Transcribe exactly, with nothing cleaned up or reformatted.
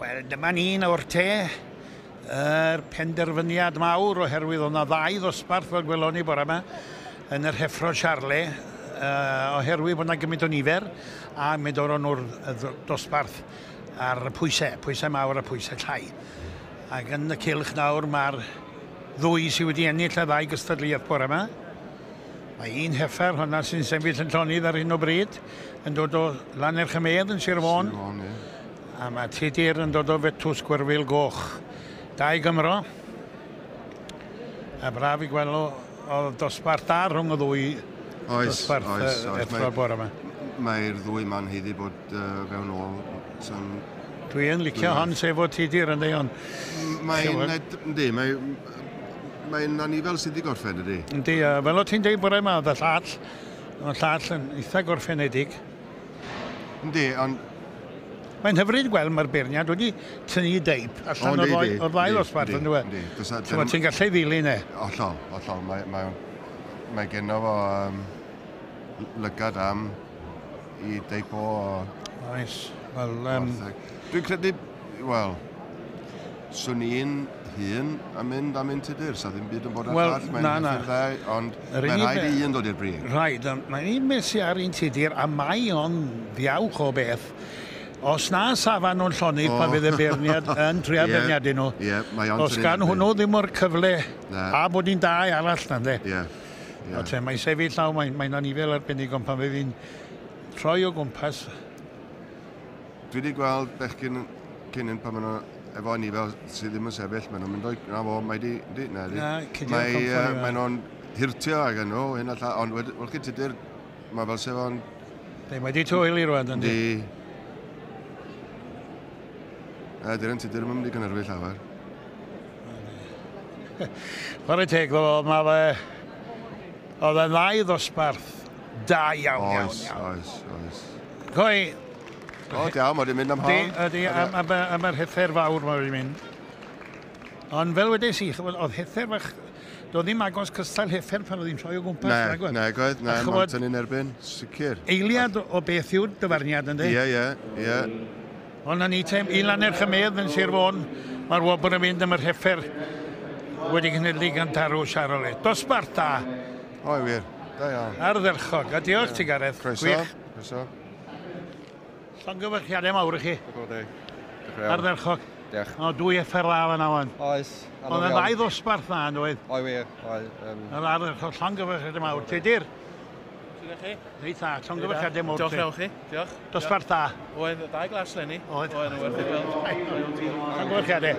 Wel, dyma ni nawr te, yr penderfyniad mawr, oherwydd oedd 'na ddau ddosbarth, fel gwelon ni bore yma, yn yr heffro Charolais, uh, oherwydd bod 'na gymaint o nifer, a mi doron nhw'r dosbarth ar y pwysau, pwysau mawr a pwysau llai. Ac yn y cylch nawr mae'r ddwy sydd wedi ennill y ddau gystadleuaeth bore yma. Mae un heffer, hwnna sy'n sefyll yn llonydd ar hyn o bryd, yn dod o Lannerch-y-medd yn Sir Fôn. Sir Fôn, ie. A mae Tudur yn dod o Fetws Gwyrfil Goch. Dau Gymro. A braf i gweld o dosbarth da rhwng y ddwy oes, dosbarth oes, oes. Effro'r bore yma. Mae'r ddwy ma'n haeddu bod uh, fewn ôl. San... Dwi yn licio hon sef o Tudur yn dweud. Mae'n, yndi, mae'n mae anifel sydd wedi gorffen, ydy? Yndi, fel o ti'n deud bore yma, oedd y llall, oedd y llall yn eitha gorffenedig. Yndi, ond mae'n hyfryd gweld mae'r beirniad wedi tynnu deip allan o'r ddau, o'r ddau ddosbarth, yn dweud. Ti'n ti'n gallu ddilyn e? Hollol, hollol. Mae, mae, mae genno fo um, lygad am i deip o... Oes. Wel, um... Dwi'n credu, wel, swn i'n hun a mynd am un Tudur, sa ddim byd yn bod ar well, llall, mae'n na, na. Ddau, ond mae'n rhaid i un dod i'r brig. Rhaid, mae'n un beth sy'n ar un Tudur, a mae o'n ddiawch o beth. Os na safan nhw'n llonydd oh. Pan fydd y beirniad yn trio yeah, beirniadu nhw. Yeah, mae os gan hwnnw ddim o'r cyfle na. A bod hi'n dau arall na, de. Yeah, yeah. Mae'n sefyll law, mae'n mae anifel arbennig, ond pan fydd hi'n troi o gwmpas. Dwi wedi gweld bechgyn cyn pan maen nhw efo anifel sydd ddim yn sefyll, maen nhw'n mynd o'i... Na fo, mae di... di na, di. Na, mae, uh, mae nhw'n hirtio ag yn nhw, hyn a lla, ond wel chi Tudur, mae fel sef o'n... Mae di twyli rwan, yndi? Di. A dyna'n Tudur yn mynd i gynhyrfu llawer. Chwarae teg, ddo, mae fe... Oedd yn ddau ddosbarth da iawn, iawn, oes, iawn. Oes, oes. Coi... O, diawn, mae wedi mynd am hon. Ydy, am, am, am yr heffer fawr mae wedi mynd. Ond fel wedes i, oedd heffer fach... Doedd ddim agos cystal heffer pan oedd hi'n troi o gwmpas. Na, na, goedd, na, mae'n tynnu'n erbyn, sicr. Eiliad o beth yw'r dyfarniad, yndi? Ie, ie, ie. Ond na ni tem, i Lannerch-y-medd yn Sir Fôn, mae'r wobr yn mynd am yr heffer wedi cynhyrchu gan Tarw Charolais. Dosbarth da. O, wir, da iawn. Ardderchog, a diolch ti Gareth. Croeso, Gwych. Croeso. Llongyfarchiadau mawr i chi. Ardderchog. Diolch. O, dwy heffer dda fan awan. Oes. Oedd yn ddau ddosbarth dda, yn doedd? Oe wir, oe. Um... Yr ardderchog, llongyfarchiadau mawr. Tudur? Sut chi? Reit dda, llongyfarchiadau mawr. Diolch iawn chi, diolch. Dosbarth da. Oedd dau glas leni. Oedd. Oedd yn werth i gweld. Llongyfarchiadau.